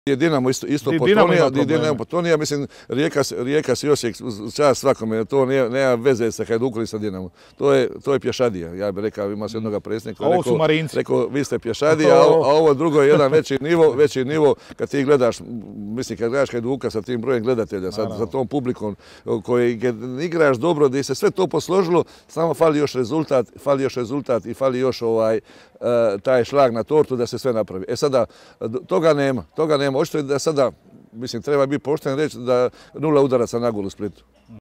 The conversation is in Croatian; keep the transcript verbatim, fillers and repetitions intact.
Je Dinamo isto, isto potonija, Dinamo potonija, mislim, Rijeka, Rijeka si Osijek, čast svakome, to nije, nema veze sa Hajdukom i sa Dinamom. To je, to je pješadija, ja bih rekao, ima se jednog predsjednika. Ovo su Marinci. Rekao, vi ste pješadija, a, a ovo drugo je jedan veći nivo, veći nivo, kad ti gledaš, mislim, kad gledaš Hajduka sa tim brojem gledatelja, sa, sa tom publikom koji igraš dobro, da se sve to posložilo, samo fali još rezultat, fali još rezultat i fali još ovaj, taj šlag na tortu da se sve napravi. E sada, toga nema, toga nema. Očito je da sada, mislim, treba biti pošten reći da nula udaraca na gol u Splitu.